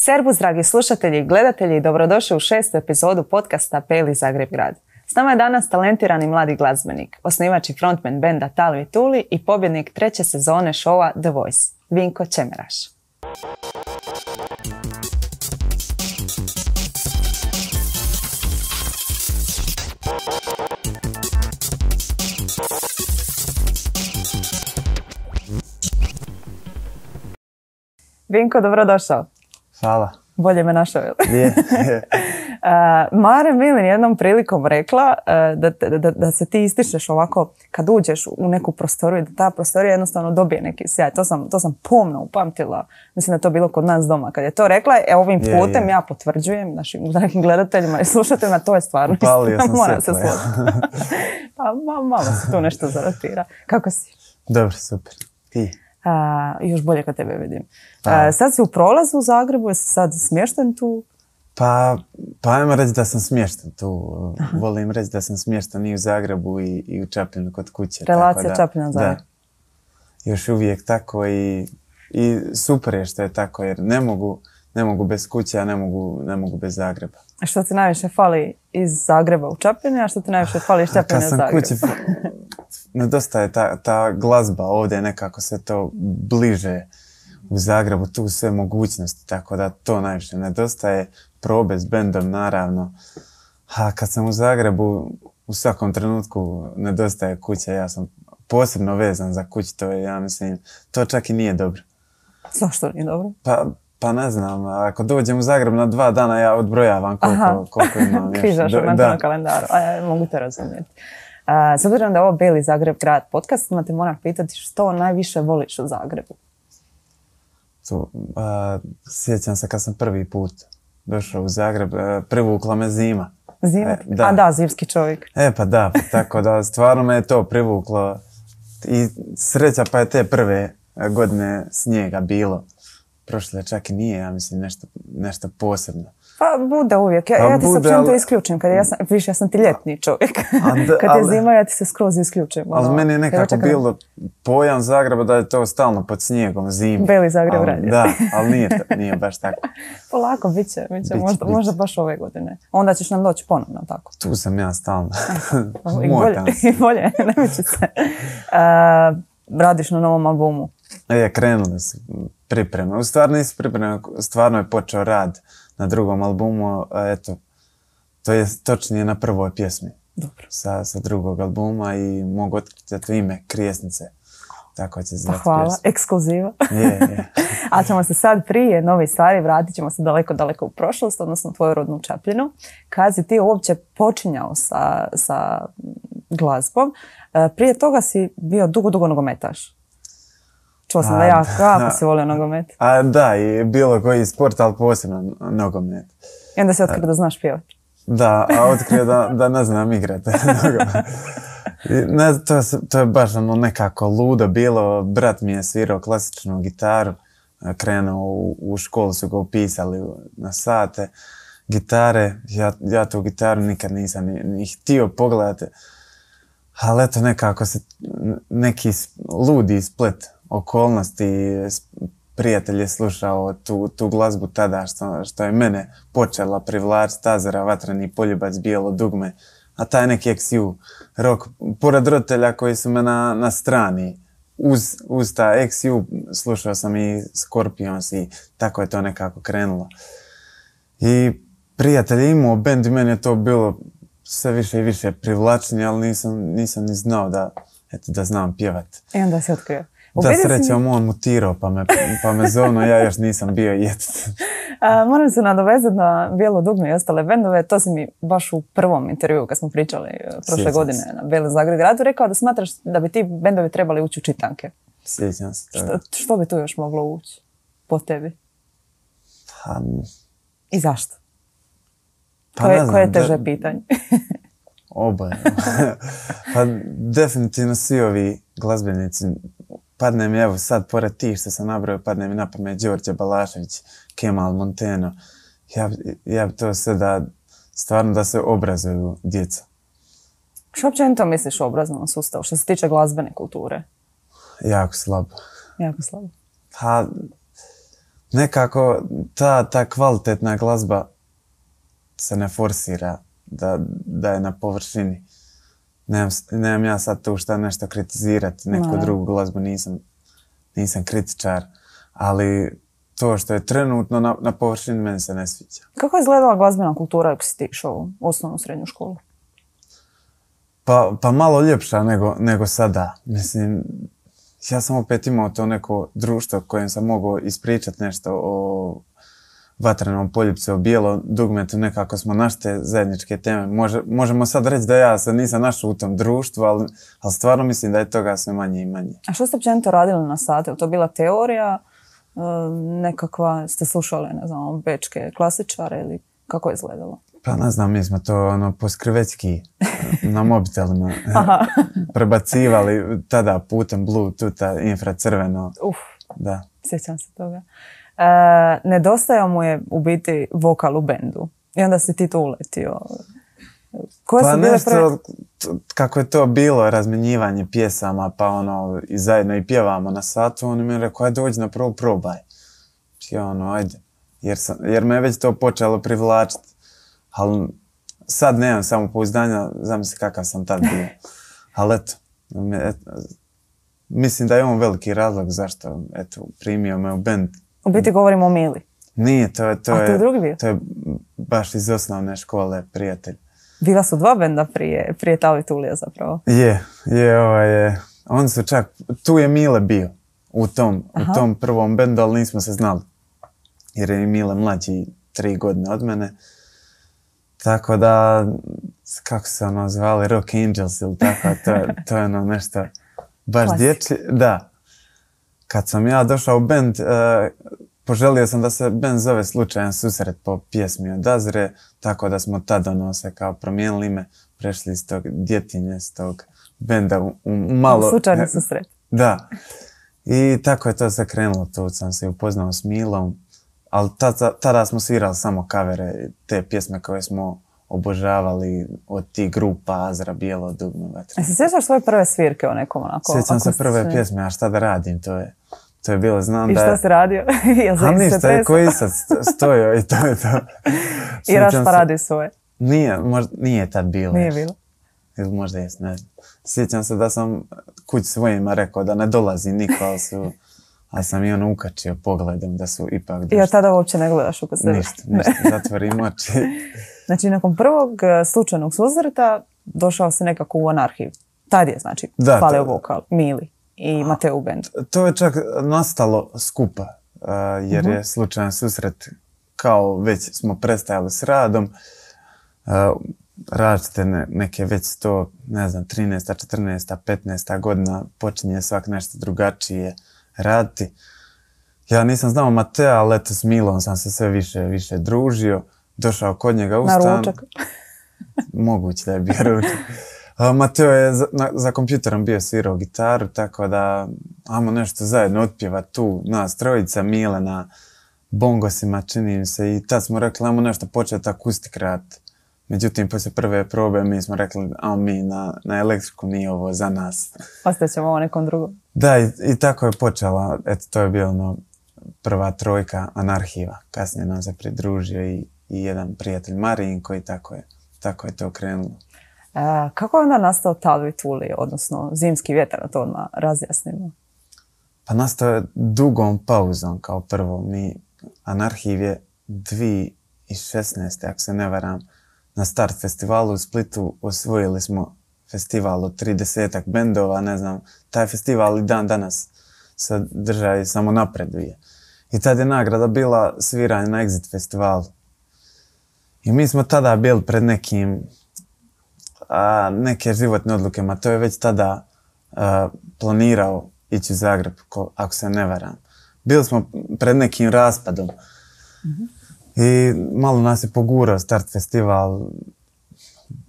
Servus, dragi slušatelji i gledatelji, dobrodošli u 6. epizodu podcasta Beli Zagreb grad. S nama je danas talentirani mladi glazbenik, osnivač i frontman benda Tali i Tuli i pobjednik 3. sezone šova The Voice, Vinko Čemeraš. Vinko, dobrodošao. Hvala. Bolje me našao. Je. Mare Milin jednom prilikom rekla da se ti ističeš ovako kad uđeš u neku prostoriju i da ta prostorija jednostavno dobije neki sjaj. To sam pomno upamtila. Mislim da je to bilo kod nas doma. Kad je to rekla, ovim putem ja potvrđujem našim dragim gledateljima i slušateljima, to je stvarno. Upalio sam Moram se svjetlo. složiti. Pa malo se tu nešto zarotira. Kako si? Dobro, super. Ti? Još bolje kad tebe vidim. Sad si u prolazu u Zagrebu, jesi sad smješten tu? Pa ajmo reći da sam smješten tu. Volim reći da sam smješten i u Zagrebu i u Čapljinu kod kuće. Relacija Čapljina-Zagreb. Da. Još uvijek tako i super je što je tako jer ne mogu bez kuće, a ne mogu bez Zagreba. A što ti najviše fali iz Zagreba u Čapljini, a što ti najviše fali iz Čapljina u Zagreb? Kad sam kući, nedostaje ta glazba ovdje, nekako se to bliže u Zagrebu, tu sve mogućnosti, tako da to najviše nedostaje. Probe s bendom, naravno. A kad sam u Zagrebu, u svakom trenutku nedostaje kuća. Ja sam posebno vezan za kuću, to je, ja mislim, to čak i nije dobro. Zašto nije dobro? Pa ne znam, ako dođem u Zagreb na 2 dana, ja odbrojavam koliko imam. Križaš u mentalnom kalendaru, mogu te razumjeti. S obzirom da je ovo Beli Zagreb grad podcast, te moram pitati što najviše voliš u Zagrebu? Sjećam se kad sam prvi put došao u Zagreb, privukla me zima. Zima? Da, zimski čovjek. Pa da, tako da stvarno me je to privuklo i sreća pa je te prve godine snijega bilo. Prošle čak i nije, ja mislim, nešto posebno. Pa bude uvijek. Ja ti se općenito isključim. Ja sam ti ljetni čovjek. Kad je zima, ja ti se skroz isključim. Ali meni je nekako bilo pojam Zagreba da je to stalno pod snijegom, zimi. Beli Zagreb radi. Da, ali nije baš tako. Polako, bit će. Možda baš ove godine. Onda ćeš nam doći ponovno, tako? Tu sam ja stalno. I bolje, ne biće se. Radiš na novom albumu. Krenuli su pripreme. U stvari nisu pripreme, stvarno je počeo rad na drugom albumu, eto, to je točnije na prvoj pjesmi. Dobro. Sa drugog albuma i mogu otkriti ime Krijesnice. Tako će zvati hvala, pjesma. ekskluziva. Je. A ćemo se sad prije nove stvari, vratit ćemo se daleko u prošlost, odnosno tvoju rodnu Čapljinu. Kad si ti uopće počinjao sa glazbom, prije toga si bio dugo nogometaš. Čuo sam da jako si volio nogomet. Da, i bilo koji sport, ali posebno nogomet. I onda si otkrio da znaš pjevati. Da, a otkrio da ne znam igrati nogomet. To je baš nekako ludo bilo. Brat mi je svirao klasičnu gitaru. Krenuo u školu, su ga upisali na sate gitare. Ja tu gitaru nikad nisam ni htio pogledati. Ali eto nekako se neki ludi splet okolnosti, prijatelj je slušao tu glazbu tada što je mene počela privlačiti, Tazara, Vatreni poljubac, Bijelo dugme, a taj neki XU rock, pored roditelja koji su me na strani, uz ta XU slušao sam i Scorpions i tako je to nekako krenulo. I prijatelj je imao bend i meni je to bilo sve više i više privlačenje, ali nisam ni znao da znam pjevati. I onda si otkrio. Da, srećom, on mutirao pa me zovno, ja još nisam bio jet. Moram se nadovezati na Bijelo dugme i ostale bendove. To si mi baš u prvom intervjuu kad smo pričali prošle godine na Beli Zagreb gradu rekao da smatraš da bi ti bendovi trebali ući u čitanke. Sjećam se. Što bi tu još moglo ući po tebi? I zašto? Koje je teže pitanje? Oboje. Pa definitivno svi ovi glazbenici, padne mi, evo sad pored tih što sam nabrojao, padne mi na pamet Đorđe Balašević, Kemal Monteno. Ja bi to sve stvarno da se obrazuju djeca. Što općenito misliš o obrazovnom sustavu što se tiče glazbene kulture? Jako slabo. Jako slabo. Pa, nekako ta kvalitetna glazba se ne forsira da je na površini. Nemam ja sad tu šta nešto kritizirati, neku drugu glazbu, nisam kritičar, ali to što je trenutno na površini meni se ne sviđa. Kako je izgledala glazbena kultura ako si ti išao u osnovnu srednju školu? Pa malo ljepša nego sada. Mislim, ja sam opet imao to neko društvo kojem sam mogao ispričati nešto o Vatrenom poljupcu, o Bijelom dugmetu, nekako smo našli te zajedničke teme. Možemo sad reći da ja sad nisam našao u tom društvu, ali stvarno mislim da je toga sve manje i manje. A što ste općenito radili na sate? Je to bila teorija? Nekakva, ste slušali, ne znam, bečke klasičare ili kako je izgledalo? Pa ne znam, mi smo to poskrivečki na mobitelima prebacivali tada putem Bluetootha, infracrveno. Da. Sjećam se toga. Nedostajao mu je u biti vokal u bendu i onda si ti tu uletio. Pa nešto, kako je to bilo, razmjenjivanje pjesama, pa i zajedno i pjevamo na satu, on mi je rekao, ajde dođi na prvo, probaj. I ajde, jer me je već to počelo privlačiti. Ali sad nemam samopouzdanja, zamisli kakav sam tad bio. Ali eto, mislim da je on veliki razlog zašto primio me u bend. U biti govorimo o Mili. Nije, to je drugi bio? To je baš iz osnovne škole prijatelj. Bila su dva benda prije Tavi Tulija zapravo. Je. Oni su čak, tu je Mile bio u tom prvom bendu, ali nismo se znali. Jer je Mile mlađi 3 godine od mene. Tako da, kako se zvali, Rock Angels ili tako, to je nešto baš dječje. Da. Kad sam ja došao u bend, poželio sam da se bend zove Slučajan susret po pjesmi od Azre, tako da smo tad se kao promijenili ime, prešli iz tog djetinje, iz tog benda u malo... Slučajni susret. Da. I tako je to se krenulo, tu sam se upoznao s Milom, ali tada smo svirali samo kavere, te pjesme koje smo obožavali od tih grupa Azra, Bijelo dugme, Vatre. Se sjećaš svoje prve svirke o nekom onako? Sjećam se prve pjesme, a šta da radim, to je bilo, znam da je... I šta si radio? A ništa, je koji sad stojio i to je to. I Raš pa radi svoje? Nije tad bilo. Nije bilo? Ili možda jes, ne znam. Sjećam se da sam kući svojima rekao da ne dolazi niko, ali sam i ukačio pogledom da su ipak došli. I od tada uopće ne gledaš oko sebe? Ništa, zatvorim oči. Znači, nakon prvog slučajnog susreta došao se nekako u Anarhiju. Tad je, znači, falio vokal, Mili i Mateo u bendu. To je čak nastalo skupa, jer je slučajan susret, kao već smo prestajali s radom, različite neke već to, ne znam, 13. 14. 15. godina počinje svak nešto drugačije raditi. Ja nisam znao Matea, ali eto s Milom sam se sve više družio. Došao kod njega u stan. Na ručak. Moguće da je bio ručak. Mateo je za kompjuterom bio svirao gitaru, tako da ajmo nešto zajedno otpjevati tu, nas trojica, Mile na bongosima, čini mi se, i tad smo rekli ajmo nešto početi akustik raditi. Međutim, poslije prve probe mi smo rekli ajmo mi na elektriku, nije ovo za nas. Ostaćemo ovo nekom drugom. Da, i tako je počela, eto to je bilo prva trojka Anarhiva. Kasnije nam se pridružio i jedan prijatelj Marijinko i tako je to krenulo. Kako je onda nastao Tavi Tuli, odnosno Zimski vjetar, na to odmah razjasnimo? Pa nastao je dugom pauzom kao prvo. Anarhiv je 2016. ako se ne varam, na Start festivalu u Splitu osvojili smo festival od 30 bendova, ne znam, taj festival i dan danas se drža i samo napreduje. I tad je nagrada bila sviranje na Exit festivalu. I mi smo tada bili pred neke životne odluke, ma to je već tada planirao ići u Zagreb, ako se ne varam. Bili smo pred nekim raspadom. I malo nas je pogurao Start festival,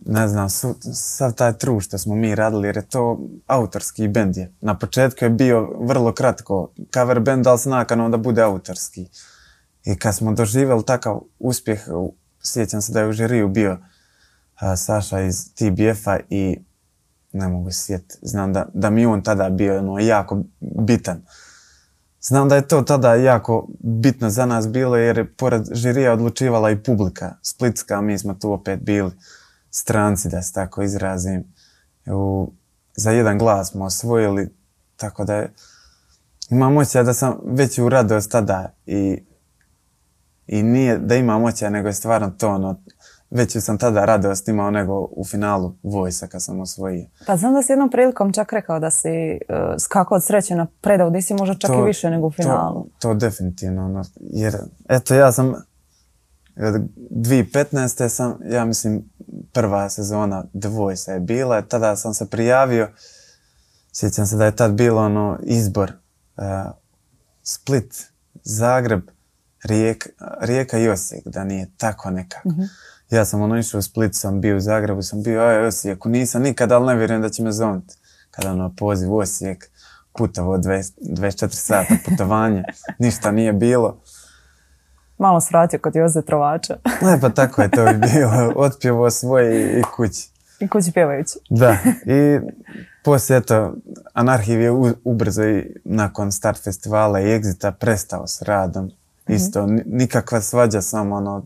ne znam, sav taj trud što smo mi radili, jer je to autorski bend je. Na početku je bio vrlo kratko cover band, ali s nakanom da bude autorski. I kad smo doživjeli takav uspjeh, sjećam se da je u žiriju bio Saša iz TBF-a i ne mogu se sjetiti, znam da mi on tada bio jako bitan. znam da je to tada jako bitno za nas bilo jer je pored žirija odlučivala i publika splitska, mi smo tu opet bili stranci, da se tako izrazim. Za jedan glas smo osvojili, tako da je, imam osjećaj da sam već u radost tada i nije da imam osjećaj, nego je stvarno to ono, veću sam tada radost imao nego u finalu Voice-a kad sam osvojio. Pa znam da si jednom prilikom čak rekao da si skakao od sreće na predavu, da si možda čak i više nego u finalu. To definitivno, ono, jer eto ja sam 2015. sam, ja mislim, prva sezona The Voice-a je bila, tada sam se prijavio, sjećam se da je tad bilo ono izbor Split, Zagreb, Rijeka i Osijek, da nije tako nekako. Ja sam ono išao u Split, sam bio u Zagrebu, sam bio u Osijeku, nisam nikad, ali ne vjerujem da će me zovniti. Kada ono poziv u Osijek, putovo 24 sata putovanje, ništa nije bilo. Malo svratio kod Joze Trovača. Ne, pa tako je to i bilo, otpjevo svoje i kući. I kući pjevajući. Da, i poslije eto, Anarhiv je ubrzo i nakon start festivala i Exita prestao s radom. Isto, nikakva svađa, samo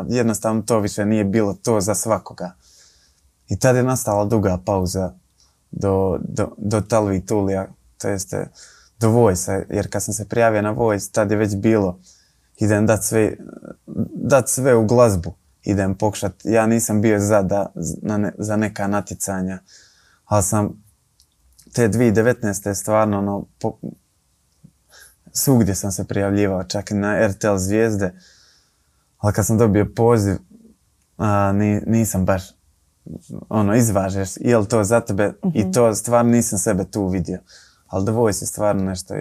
jednostavno to više nije bilo to za svakoga. I tad je nastala duga pauza do Talvi Tulija, to jeste do Voice-a, jer kad sam se prijavio na Voice, tad je već bilo, idem dat sve u glazbu, idem pokušat, ja nisam bio za neka natjecanja, ali sam te 2019. stvarno svugdje sam se prijavljivao, čak i na RTL Zvijezde, ali kad sam dobio poziv, nisam baš izvažeš, je li to za tebe, i to stvarno nisam sebe tu vidio. Ali The Voice je stvarno nešto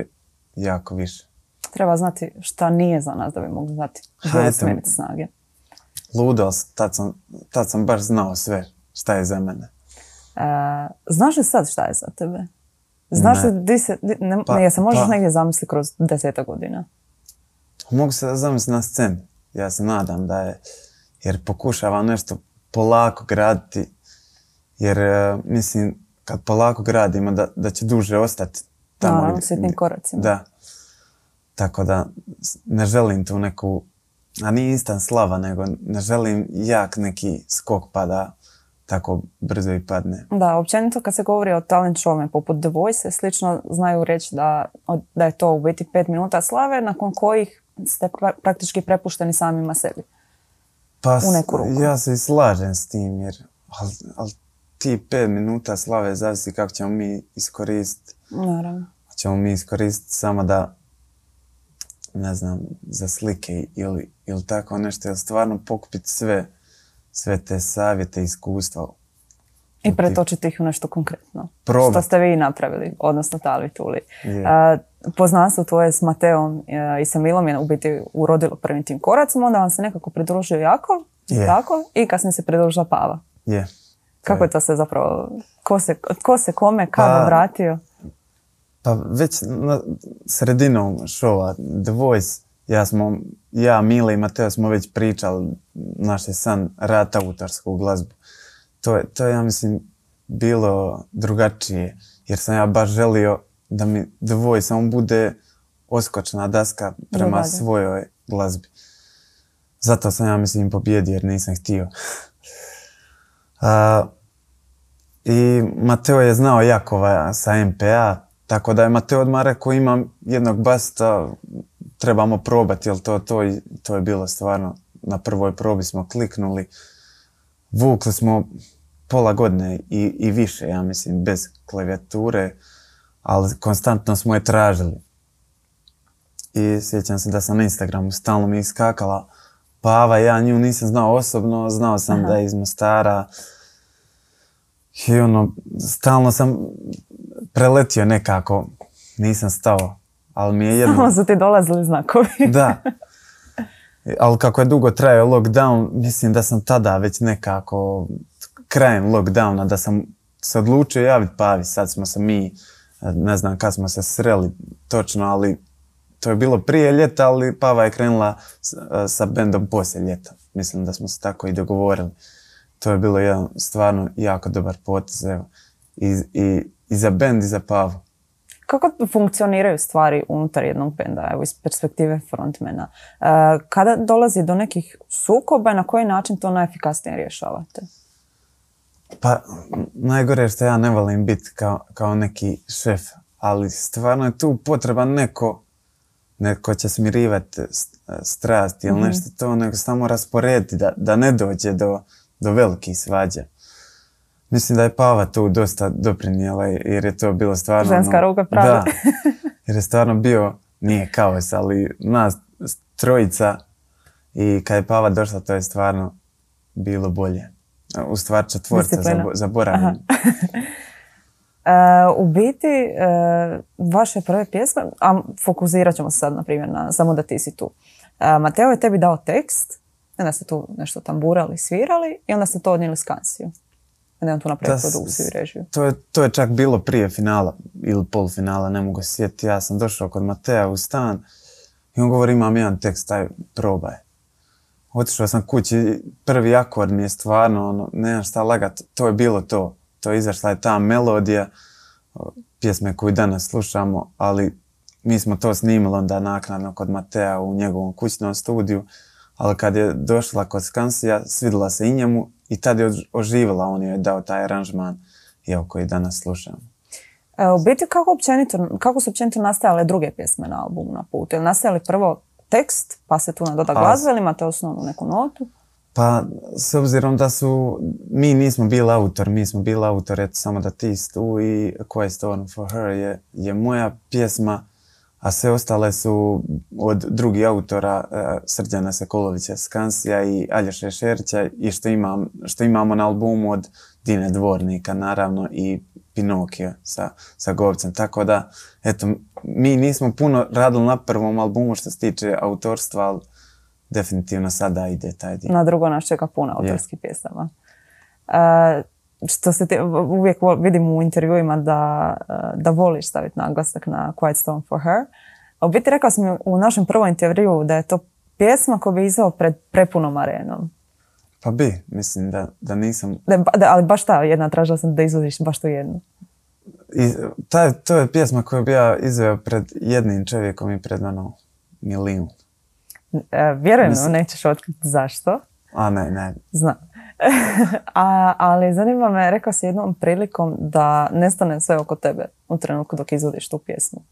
jako više. Treba znati šta nije za nas da bi mogli znati. Gdje smeriti snage. Ludo, tad sam baš znao sve šta je za mene. Znaš li sad šta je za tebe? Znaš li ja se možeš negdje zamisliti kroz 10 godina? Mogu se zamisliti na sceni. Ja se nadam da je, jer pokušavam nešto polako graditi, jer mislim kad polako gradimo da će duže ostati tamo. Naravno, sitnim koracima. Da. Tako da ne želim tu neku, a nije instant slava, nego ne želim jak neki skok pa da tako brzo i padne. Da, općenito kad se govori o talent showima poput The Voice, slično znaju reći da je to u biti 5 minuta slave nakon kojih ste praktički prepušteni samima sebi. Pa ja se i slažem s tim, jer ali ti 5 minuta slave zavisi kako ćemo mi iskoristiti. Naravno. Ćemo mi iskoristiti samo da, ne znam, za slike ili tako nešto, jer stvarno pokupiti sve te savjete, iskustva. I pretočiti ih u nešto konkretno. Probat. Što ste vi napravili, odnosno Talvi Tuli. Poznanstvo tvoje s Mateom i sa Milom je u biti urodilo prvim tim koracima, onda vam se nekako pridružio Jakov, tako, i kasnije se pridružila Pava. Kako je to sve zapravo, ko se kome, kada vratio? Pa već na sredinom šova The Voice, ja, Mile i Mateo smo već pričali, naš je san rad autorsku glazbu. To je, ja mislim, bilo drugačije, jer sam ja baš želio da mi The Voice samo bude oskočna daska prema svojoj glazbi. Zato sam, ja mislim, pobjedio, jer nisam htio. I Mateo je znao Jakova sa MPA, tako da je Mateo odmah rekao, imam jednog basta, trebamo probati, jer to je bilo stvarno, na prvoj probi smo kliknuli, vukli smo pola godine i više, ja mislim, bez klavijature, ali konstantno smo je tražili. I sjećam se da sam na Instagramu stalno mi iskakala Pava, ja nju nisam znao osobno, znao sam da je iz Mostara. I stalno sam preletio nekako, nisam stao, ali mi je jedno... Samo su ti dolazili znakovi. Da, ali kako je dugo trajao lockdown, mislim da sam tada već nekako, krajem lockdowna, da sam se odlučio javiti Pavi. Sad smo se mi, ne znam kad smo se sreli točno, ali to je bilo prije ljeta, ali Pava je krenula sa bendom poslije ljeta. Mislim da smo se tako i dogovorili. To je bilo jedan stvarno jako dobar potez, evo. I za bend i za Pavu. Kako funkcioniraju stvari unutar jednog benda, evo iz perspektive frontmana? Kada dolazi do nekih sukoba, na koji način to najefikasnije rješavate? Pa, najgore je što ja ne volim biti kao neki šef, ali stvarno je tu potreban neko će smirivati strasti ili nešto to, nego samo rasporediti da ne dođe do velikih svađa. Mislim da je Pava tu dosta doprinijela jer je to bilo stvarno... Ženska ruka pravi. Da, jer je stvarno bio, nije kaos, ali nas trojica i kad je Pava došla to je stvarno bilo bolje. U stvari četvorca, zaboravim. U biti, vaše prve pjesme, a fokusirat ćemo se sad, na primjer, na Samo da ti si tu. Mateo je tebi dao tekst, onda ste tu nešto tamburali, svirali i onda ste to odnijeli Skansiju. Onda je on tu napravio produkciju i režiju. To je čak bilo prije finala ili polufinala, ne mogu se sjetiti. Ja sam došao kod Matea u stan i on govori imam jedan tekst, taj probaj. Otišao sam kući, prvi akord mi je stvarno, nemam šta lagat, to je bilo to. To je izašla je ta melodija, pjesme koju danas slušamo, ali mi smo to snimili onda naknadno kod Matea u njegovom kućnom studiju, ali kad je došla kod Skansija, svidjela se i njemu i tad je oživjela, on je dao taj aranžman koji danas slušamo. U biti, kako su općenito nastajale druge pjesme na albumu Na putu? Je li nastajali prvo tekst, pa se tu nadoda glazba ili imate osnovnu neku notu? Pa, s obzirom da mi nismo bili autor, eto Samo da ti si tu i Quiet Storm for Her je moja pjesma, a sve ostale su od drugih autora, Srđana Sekulovića Skansija i Aljoše Šerića i što imamo na albumu od Dine Dvornika, naravno, i Pinokio sa Govcem. Tako da, eto, mi nismo puno radili na prvom albumu što se tiče autorstva, ali definitivno sada ide taj dio. Na drugo nas čeka puno autorskih pjesama. Što se uvijek vidim u intervjuima da voliš staviti naglasak na Quiet Storm for Her. A u biti rekao sam u našem prvom intervjuu da je to pjesma koju bi izveo pred prepunom arenom. Pa mislim da nisam... Ali baš ta jedna, tražila sam da izvodiš baš tu jednu. To je pjesma koju bi ja izveo pred jednim čovjekom i pred milijun. Vjerujem, nećeš otkriti zašto. A ne. Znam. Ali zanima me, rekao si jednom prilikom da nestane sve oko tebe u trenutku dok izvodiš tu pjesmu.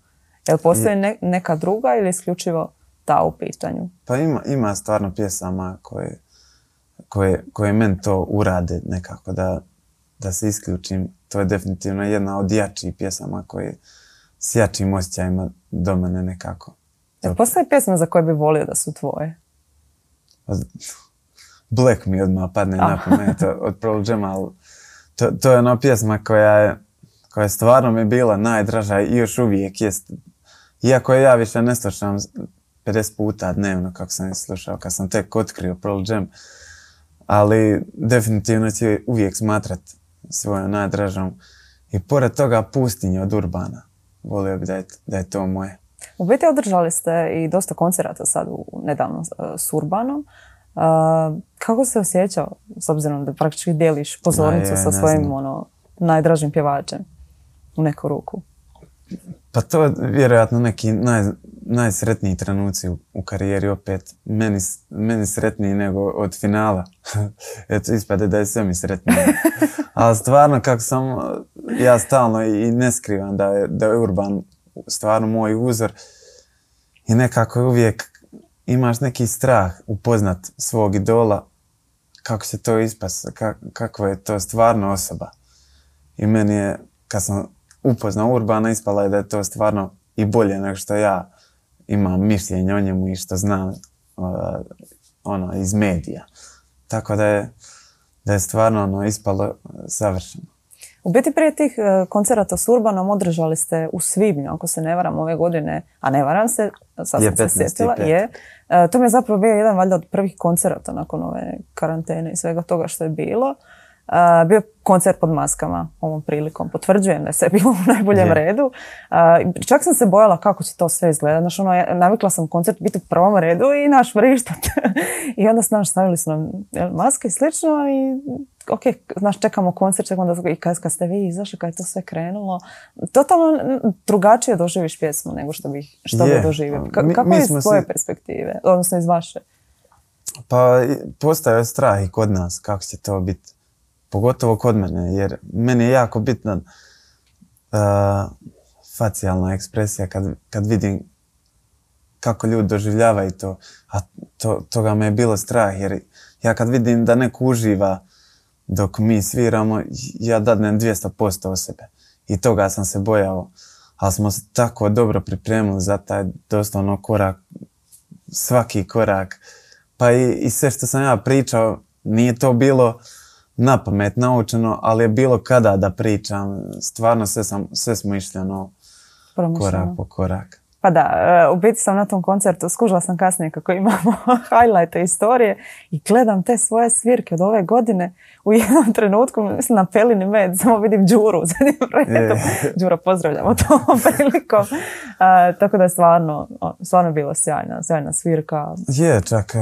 Jel postoji neka druga ili isključivo ta u pitanju? Pa ima stvarno pjesama koje meni to urade nekako da se isključim. To je definitivno jedna od jačih pjesama koje s jačim osjećajima do mene nekako. Postoji pjesma za koje bi volio da su tvoje? Black mi odmah padne na pamet od Pearl Jama, ali to je ona pjesma koja stvarno mi je bila najdraža i još uvijek jest. Iako ja više ne slušam 50 puta dnevno kako sam je slušao, kad sam tek otkrio Pearl Jam, ali definitivno će uvijek smatrat svojom najdražom. I pored toga Pustinje od Urbana. Volio bi da je to moje. U biti održali ste i dosta koncerata sad nedavno s Urbanom. Kako se osjećao, s obzirom da praktički dijeliš pozornicu sa svojim najdražim pjevačem u neku ruku? Pa to je vjerojatno neki najsretniji trenuci u karijeri opet. Meni sretniji nego od finala. Eto, ispade da je sve mi sretnije. Ali stvarno, kako sam ja stalno i ne skrivam da je Urban stvarno moj uzor i nekako uvijek imaš neki strah upoznat svog idola, kako će to ispast, kakva je to stvarno osoba. I meni je, kad sam upoznao Urbana, ispala je da je to stvarno i bolje nego što ja imam mišljenje o njemu i što znam iz medija. Tako da je stvarno ispalo savršeno. U biti prije tih koncerata s Urbanom održali ste u svibnju, ako se ne varam, ove godine, a ne varam se, sad sam se sjetila. To mi je zapravo bio jedan valjda od prvih koncerata nakon ove karantene i svega toga što je bilo. Bio koncert pod maskama ovom prilikom. Potvrđujem da je sve bilo u najboljem redu. Čak sam se bojala kako će to sve izgledati. Znači, navikla sam koncert biti u prvom redu i naš vrištat. I onda stavili su nam maske i slično i ok, znaš, čekamo koncert, i kad ste vi izašli, kad je to sve krenulo, totalno drugačije doživiš pjesmu nego što bi doživio. Kako je iz tvoje perspektive, odnosno iz vaše? Pa postoje strah i kod nas kako će to biti. Pogotovo kod mene, jer meni je jako bitna facijalna ekspresija kad vidim kako ljudi doživljavaju to. A toga me je bilo strah, jer ja kad vidim da neko uživa dok mi sviramo, ja dadnem 200% od sebe. I toga sam se bojao. Ali smo se tako dobro pripremili za taj doslovno korak, svaki korak. Pa i sve što sam ja pričao, nije to bilo napamet naučeno, ali je bilo kada da pričam. Stvarno sve smo išli korak po korak. Pa da, u biti sam na tom koncertu, skužila sam kasnije kako imamo highlighte istorije i gledam te svoje svirke od ove godine. U jednom trenutku, mislim na Pelini med, samo vidim Đuru za jednim redom. Đura, pozdravljamo tom prilikom. Tako da je stvarno bilo sjajna svirka. Je, čak,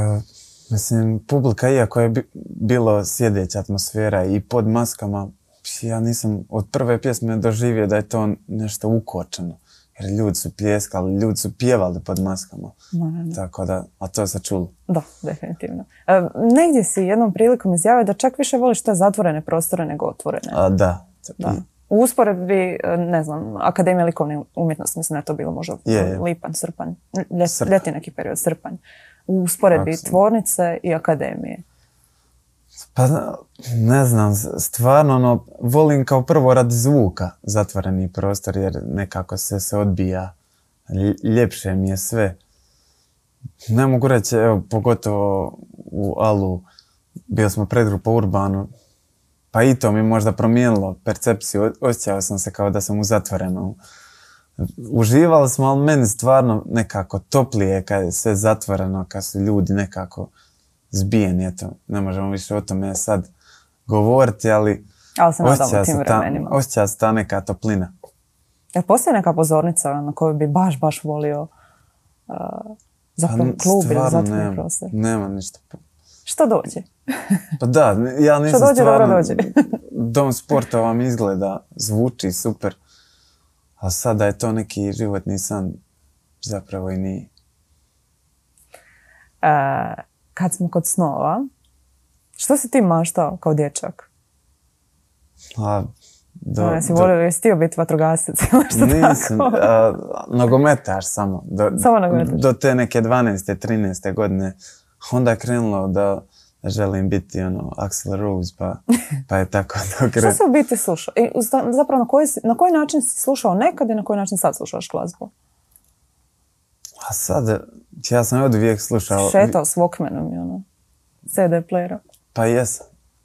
mislim, publika, iako je bilo sjedeća atmosfera i pod maskama, ja nisam od prve pjesme doživio da je to nešto ukočeno. Jer ljudi su pljeskali, ljudi su pjevali pod maskama. Tako da, a to se čulo. Da, definitivno. Negdje si jednom prilikom izjavio da čak više voliš te zatvorene prostore nego otvorene. Da. U usporedbi, ne znam, Akademija likovne umjetnosti, mislim da je to bilo možda lipanj, srpanj, ljeti neki period, srpanj. U usporedbi tvornice i akademije. Pa ne znam, stvarno volim kao prvo radi zvuka zatvoreni prostor jer nekako se odbija, ljepše mi je sve. Ne mogu reći, evo, pogotovo u Alu, bili smo predgrupa Urbanu, pa i to mi možda promijenilo percepciju, osjećao sam se kao da sam u zatvorenom. Uživali smo, ali meni stvarno nekako toplije kad je sve zatvoreno, kad su ljudi nekako zbijeni, eto, ne možemo više o tome sad govoriti, ali osjeća se ta neka toplina. Postoji neka pozornica na koju bi baš volio zapravo klub ili zatvoreni prostor? Nema ništa. Što dođe? Pa da, ja nisam što dođe, stvarno... dobro dođe. Dom sporta vam izgleda, zvuči super, a sada je to neki životni san, zapravo i nije. Kad smo kod snova, što si ti maštao kao dječak? Jesi htio biti vatrogasac? Nisam, nogometaš samo. Samo nogometaš? Do te neke 12. 13. godine. Onda je krenulo da želim biti Axl Rose, pa je tako to krenulo. Što si u biti slušao? Zapravo na koji način si slušao nekad i na koji način sad slušaš glazbu? A sad, ja sam od uvijek slušao... Šetao s Walkmanom i CD playera. Pa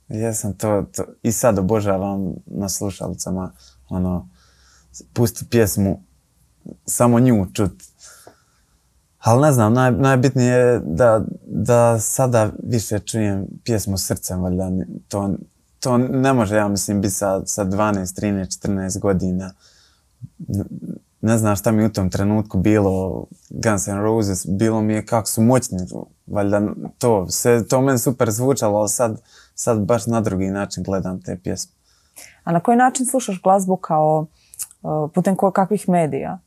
jesam to. I sad obožavam na slušalicama, pusti pjesmu, samo nju čut. Ali ne znam, najbitnije je da sada više čujem pjesmu srcem, valjda. To ne može, ja mislim, biti sa 12, 13, 14 godina. Ne znam šta mi u tom trenutku bilo, Guns N' Roses, bilo mi je kako su moćni, valjda to meni super zvučalo, ali sad baš na drugi način gledam te pjesme. A na koji način slušaš glazbu kao putem kakvih medija?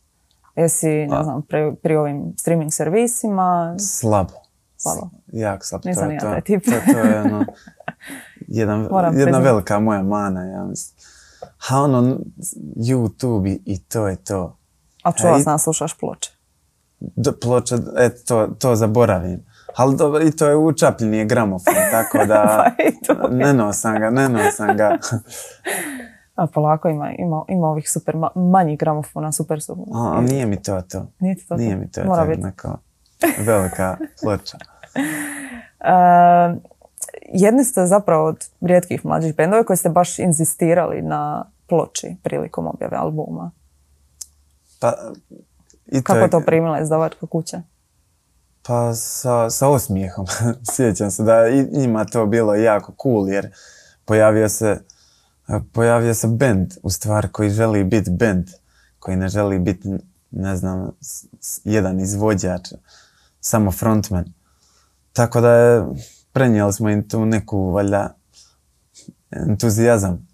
Jesi, ne znam, pri ovim streaming servisima? Slabo. Jako slabo. Nisam ja taj tip. To je jedna velika moja mana, ja mislim. A YouTube i to je to. A čuva sam slušaš ploče? Ploče, to zaboravim. Ali dobro, i to je učapljeni gramofon, tako da ne nosim ga. A polako ima ovih super manjih gramofona, super su. A nije mi to. Nije ti to? Nije mi to. Mora biti. Neka velika ploča. Jedni ste zapravo od rijetkih mlađih bendova koji ste baš inzistirali na ploči prilikom objave albuma. Kako je to primila izdavačka kuća? Pa sa osmijehom. Sjećam se da njima to bilo jako cool jer pojavio se bend u stvari koji želi biti bend, koji ne želi biti, ne znam, jedan izvođač, samo frontman. Tako da prenijeli smo im tu neku, valjda, entuzijazam.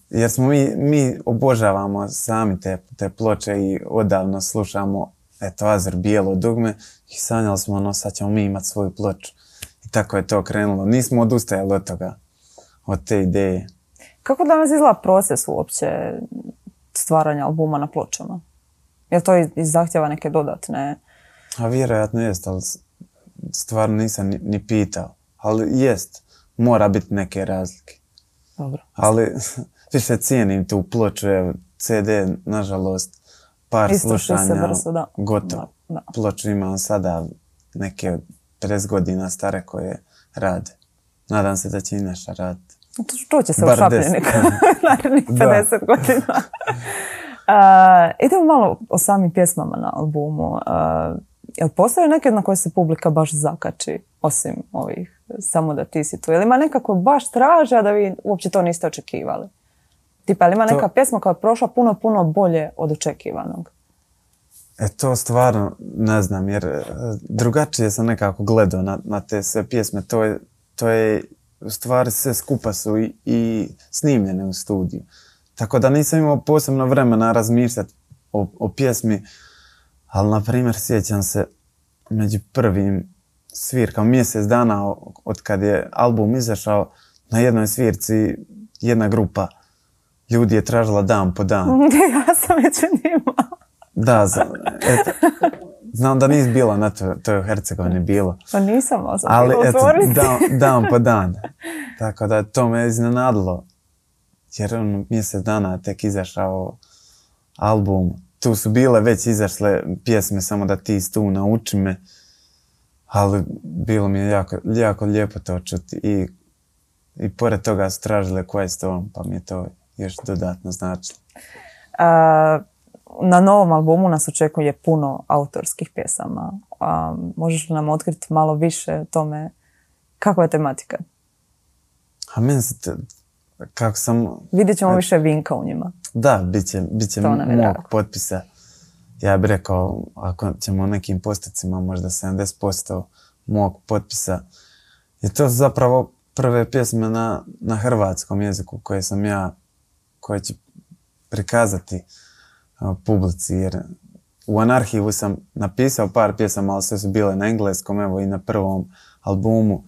Jer smo mi obožavamo sami te ploče i odavno slušamo Azur, Bijelo dugme i sanjali smo sad ćemo mi imati svoju ploču. I tako je to krenulo. Nismo odustajali od toga, od te ideje. Kako danas izgleda proces uopće stvaranja albuma na pločama? Je li to zahtjeva neke dodatne? A vjerojatno jest, ali stvarno nisam ni pitao. Ali jest, mora biti neke razlike. Dobro. Ali više cijenim tu ploču, CD, nažalost, par slušanja, gotovo. Da. Ploču imam sada neke 50 godina stare koje rade. Nadam se da će i naša raditi. To će se u šapljenik narednih 50 godina. Idemo malo o samim pjesmama na albumu. Jel postoje neke na koje se publika baš zakači, osim ovih Samo da ti si tu? Jel ima nekako baš traže, a da vi uopće to niste očekivali? Tipa, jel ima neka pjesma koja je prošla puno bolje od očekivanog? To stvarno ne znam, jer drugačije sam nekako gledao na te sve pjesme. To je u stvari sve skupa su i snimljene u studiju. Tako da nisam imao posebno vremena razmišljati o pjesmi, ali na primjer sjećam se među prvim svirkama, mjesec dana od kad je album izašao, na jednoj svirci jedna grupa ljudi je tražila dan po dan. Ja sam među njima. Da, znam da nisi bila na toj Hercegovini bilo. Pa nisam, ali dan po dan. Tako da to me iznenadilo. Jer mjesec dana tek izašao album. Tu su bile već izašle pjesme Samo da ti tu nauči me. Ali bilo mi je jako lijepo to čuti. I pored toga su tražile koja je s tobom, pa mi je to još dodatno značilo. Na novom albumu nas očekuje puno autorskih pjesama. Možeš li nam otkriti malo više o tome kakva je tematika? A meni se kako sam... Vidjet ćemo više Vinka u njima. Da, bit će mog potpisa. Ja bih rekao, ako ćemo nekim postocima, možda 70% mog potpisa. I to su zapravo prve pjesme na hrvatskom jeziku koje ću prikazati publici. Jer u Anarhivu sam napisao par pjesama, ali sve su bile na engleskom, evo i na prvom albumu.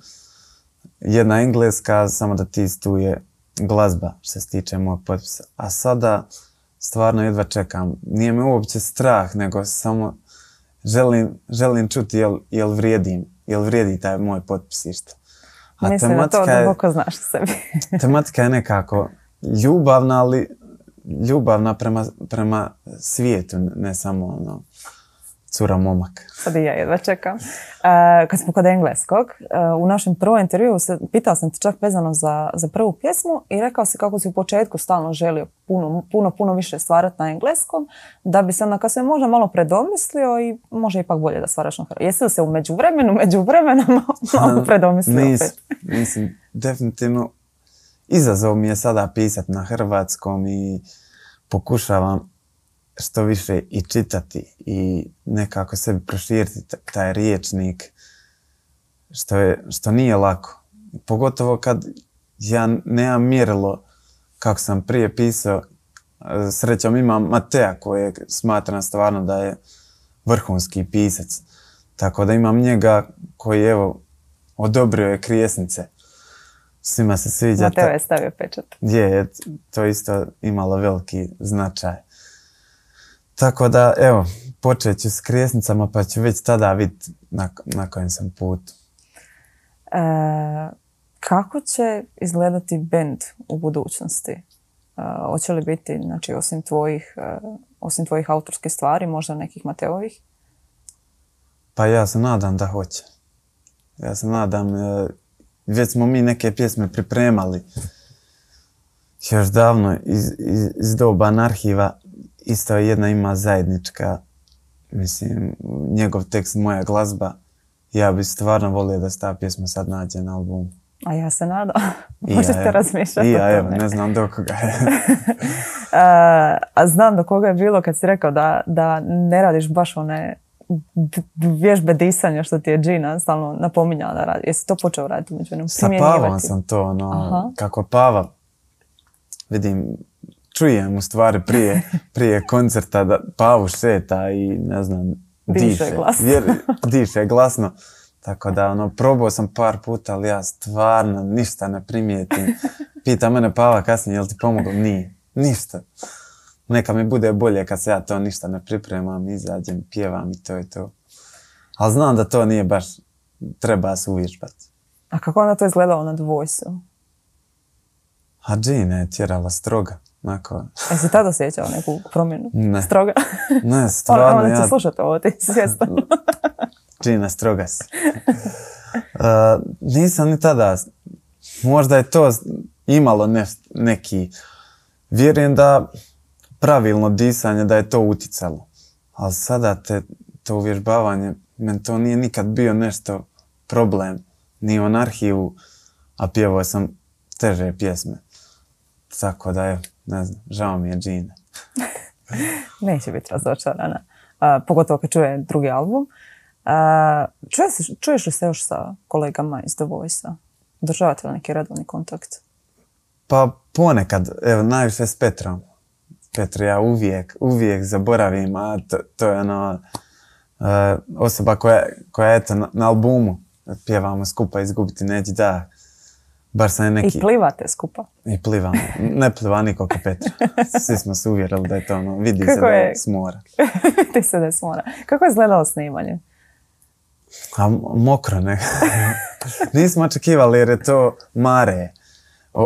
Jedna engleska, Samo da ti tu je glazba što se tiče mog potpisa. A sada stvarno jedva čekam. Nije me uopće strah, nego samo želim čuti jel vrijedi taj moj potpis išto. Mislim da to duboko znaš o sebi. Tematika je nekako ljubavna, ali ljubavna prema svijetu, ne samo cura momak. Sad i ja jedva čekam. Kad smo kod engleskog, u našem prvom intervjuu pitao sam te čak vezano za prvu pjesmu i rekao si kako si u početku stalno želio puno više stvarati na engleskom, da bi se onda kad se možda malo predomislio i može ipak bolje da stvaraš na hrvatskom. Jesi li se u međuvremenu malo predomislio opet? Mislim, definitivno izazov mi je sada pisati na hrvatskom i pokušavam što više i čitati i nekako sebi proširiti taj riječnik, što nije lako. Pogotovo kad ja nemam mjerilo kako sam prije pisao. Srećom imam Matea koje smatram stvarno da je vrhunski pisac. Tako da imam njega koji odobrio je Krijesnice. Svima se sviđa. Mateo je stavio pečat. Je, to isto imalo veliki značaj. Tako da, počet ću s Krijesnicama pa ću već tada vidjeti na kojem sam putu. Kako će izgledati bend u budućnosti? Hoće li biti, znači, osim tvojih autorskih stvari, možda nekih Mateovih? Pa ja se nadam da hoće. Ja se nadam, već smo mi neke pjesme pripremali još davno iz doba Anarhiva. Isto jedna ima zajednička, mislim, njegov tekst, moja glazba. Ja bi stvarno volio da se ta pjesma sad nađe na albumu. A ja se nadam. Možete razmišljati o tome. Ne znam do koga je. A znam do koga je bilo kad si rekao da ne radiš baš one vježbe disanja što ti je Gina stalno napominjala da radi. Jesi to počeo raditi među jednom? Sa Pavom sam to, kako Pava, vidim, čujem u stvari prije koncerta da Pavu šeta i ne znam, diše glasno. Tako da, probao sam par puta, ali ja stvarno ništa ne primijetim. Pita mene Pava kasnije, jel ti pomoglo? Nije, ništa. Neka mi bude bolje kad se ja to ništa ne pripremam, izađem, pjevam i to je to. Ali znam da to nije baš, treba se uvježbati. A kako onda to izgledalo na The Voice-u? A Gina je tjerala stroga. Jesi tada osjećao neku promjenu? Ne. Stroga? Ne, stvarno. Ona će slušati ovo, ti si svjestan. Gina, stroga si. Nisam ni tada, možda je to imalo neki, vjerujem da pravilno disanje da je to uticalo. Ali sada to uvježbavanje, meni to nije nikad bio nešto problem. Ni u Anarhiju, a pjevao sam teže pjesme. Tako da je, ne znam, žao mi je Gina. Neće biti razočarana. Pogotovo kad čuje drugi album. Čuješ li se još sa kolegama iz The Voice-a? Održavate li neki redovni kontakt? Pa ponekad, evo, najviše s Petrom. Petru ja uvijek zaboravim, a to je osoba koja eto na albumu pjevamo skupa Izgubiti neći dah. Bar sam neki... I plivate skupa? I plivamo. Ne pliva niko ko Petra. Svi smo se uvjerili da je to vidi se da je s mora. Vidi se da je s mora. Kako je izgledalo snimanje? A mokro ne. Nismo očekivali jer je to Mare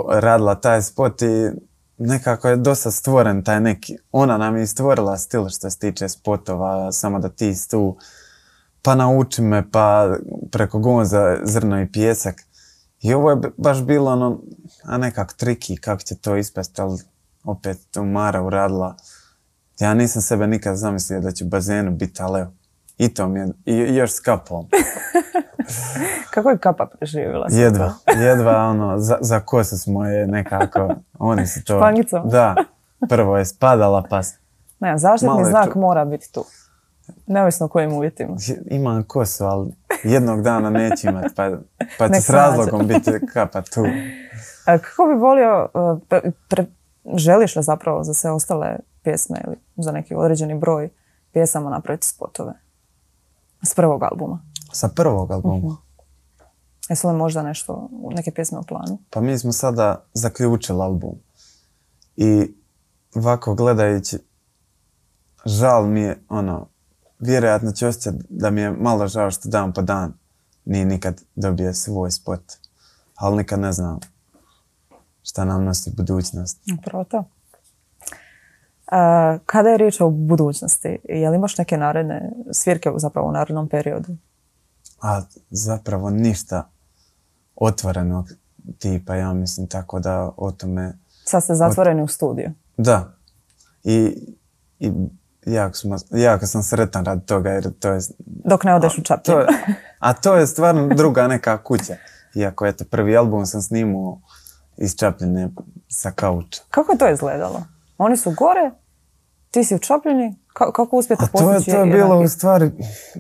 radila taj spot i nekako je dosta stvoren taj neki. Ona nam je stvorila stil što se tiče spotova, samo da ti tu pa nauči me, pa preko Gonza Zrno i Pijesak. I ovo je baš bilo nekako triki kako će to ispasti, ali opet to Mara uradila. Ja nisam sebe nikad zamislio da će u bazenu biti, ali evo, i to mi je, i još s kapom. Kako je kapa preživjela? Jedva za kose smo je nekako, oni su to... Špangicom? Da, prvo je spadala pa... Ne, zaštitni znak mora biti tu. Neovisno o kojim uvjetima. Imam kosu, ali jednog dana neću imati, pa će s razlogom biti kapa tu. Kako bi volio, želiš li zapravo za sve ostale pjesme ili za neki određeni broj pjesama napraviti spotove? S prvog albuma? Sa prvog albuma? Jesu li možda neke pjesme u planu? Pa mi smo sada zaključili album. I ovako gledajući, žal mi je, vjerojatno ću osjećati da mi je malo žao što dan po dan nije nikad dobio svoj spot. Ali nikad ne znam šta nam nosi budućnost. Upravo to. Kada je riječ o budućnosti, je li imaš neke naredne svirke zapravo u narednom periodu? A zapravo ništa otvorenog tipa, ja mislim, tako da o tome... Sad ste zatvoreni u studiju? Da. I jako sam sretan radi toga jer to je... Dok ne odeš u Čapljinu. A to je stvarno druga neka kuća. Iako eto, prvi album sam snimao iz Čapljine sa kauča. Kako je to izgledalo? Oni su gore, ti si u Čapljini, kako uspijete postići? To je bilo u stvari,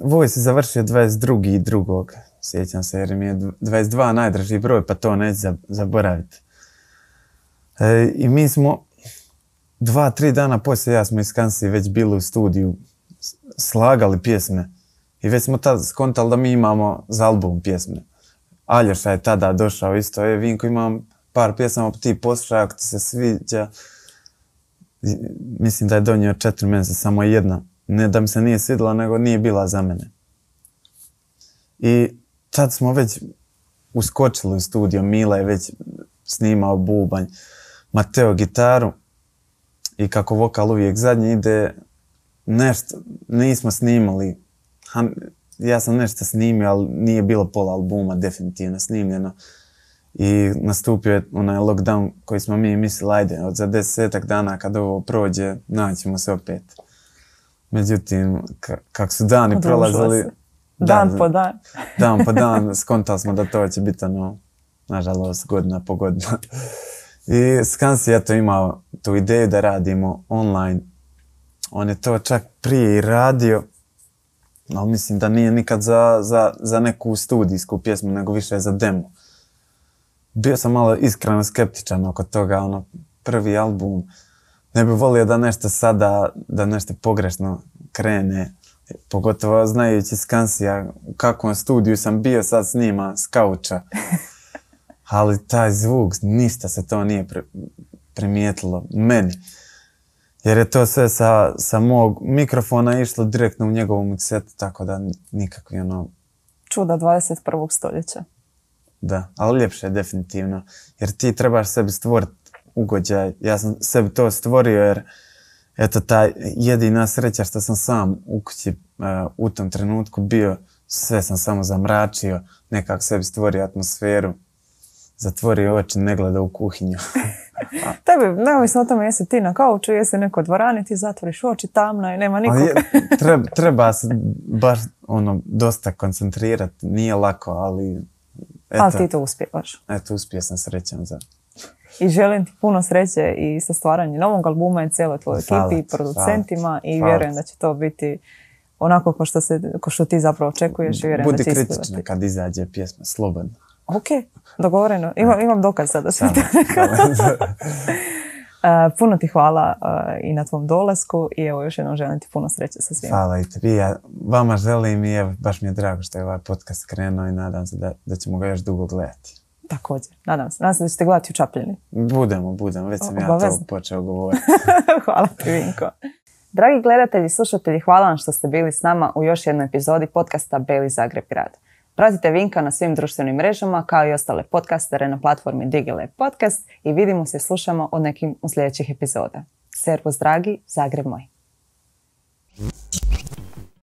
Voice je završio 22.2. Sjećam se jer mi je 22 najdraži broj, pa to neću zaboraviti. I mi smo 2-3 dana poslije, ja smo iz Kansi već bili u studiju, slagali pjesme i već smo tad skontali da mi imamo za album pjesme. Aljoša je tada došao isto, Vinko, imam par pjesama, ti poslušaj ako ti se sviđa. Mislim da je donio 4 mjeseca, samo jedna. Ne da mi se nije svidjela, nego nije bila za mene. I tad smo već uskočili u studio, Mila je već snimao bubanj, Mateo gitaru i kako vokal uvijek zadnji ide, nešto nismo snimali. Ja sam nešto snimio, ali nije bilo pola albuma definitivno snimljeno. I nastupio je onaj lockdown koji smo mi mislili, ajde, od za 10 dana kad ovo prođe, naćemo se opet. Međutim, kako su dani prolazili... Dan po dan. Dan po dan, skontali smo da to će biti nažalost, godina po godina. I Skansi je imao tu ideju da radimo online. On je to čak prije i radio. Ali mislim da nije nikad za neku studijsku pjesmu, nego više za demo. Bio sam malo iskreno skeptičan oko toga, prvi album. Ne bih volio da nešto sada, da nešto pogrešno krene. Pogotovo znajući Skansija u kakvom studiju sam bio, sad snima s kauča. Ali taj zvuk, ništa se to nije primijetilo meni. Jer je to sve sa mog mikrofona išlo direktno u njegovom setu, tako da nikakvi Čuda 21. stoljeća. Da, ali ljepše je definitivno. Jer ti trebaš sebi stvoriti ugođaj. Ja sam sebi to stvorio jer eto ta jedina sreća što sam sam u kući u tom trenutku bio, sve sam samo zamračio, nekako sebi stvorio atmosferu, zatvorio oči, ne gleda u kuhinju. Tebi, neovisno o tome jesi ti na kauču, jesi neko dvorani, ti zatvoriš oči, tamno je, nema nikog. Treba se baš dosta koncentrirati, nije lako, ali... Eto, ali ti to uspijevaš. Eto, uspio sam, srećan za... I želim ti puno sreće i sa stvaranjem novog albuma i cijeloj tvojoj ekipi i producentima i vjerujem da će to biti onako ko što ti zapravo očekuješ i vjerujem da će isplivati. Budi kritična kad izađe pjesma, slobodno. Ok, dogovoreno. Imam dokaz sada. Puno ti hvala i na tvom dolasku i evo još jednom želim ti puno sreće sa svima. Hvala i tebi. Ja vama želim i evo, baš mi je drago što je ovaj podcast krenuo i nadam se da ćemo ga još dugo gledati. Također, nadam se. Nadam se da ćete gledati u Čapljini. Budemo. Već sam ja to počeo govoriti. Hvala ti, Vinko. Dragi gledatelji i slušatelji, hvala vam što ste bili s nama u još jednoj epizodi podcasta Beli Zagreb grad. Pratite Vinka na svim društvenim mrežama kao i ostale podcastere na platformi Digilab Podcast i vidimo se i slušamo od nekim u sljedećih epizoda. Servus dragi, Zagreb moj!